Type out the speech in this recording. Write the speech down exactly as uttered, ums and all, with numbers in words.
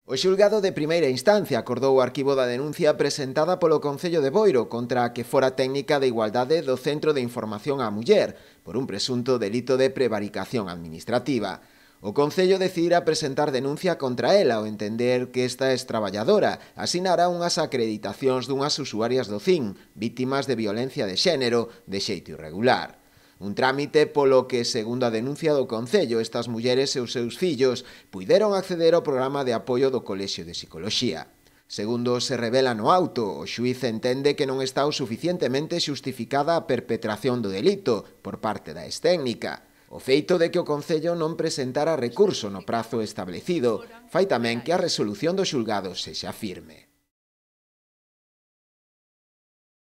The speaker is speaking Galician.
O xulgado de primeira instancia acordou o arquivo da denuncia presentada polo Concello de Boiro contra a que fora técnica de igualdade do Centro de Información á Muller por un presunto delito de prevaricación administrativa. O Concello decidira presentar denuncia contra ela ao entender que esta ex-traballadora asinara unhas acreditacións dunhas usuarias do C I N, vítimas de violencia de xénero, de xeito irregular. Un trámite polo que, segundo a denuncia do Concello, estas mulleres e os seus fillos puideron acceder ao programa de apoio do Colexio de Psicoloxía. Segundo se revela no auto, o xuíz entende que non está o suficientemente xustificada a perpetración do delito por parte da ex-técnica. O feito de que o Concello non presentara recurso no prazo establecido fai tamén que a resolución do xulgado sexa firme.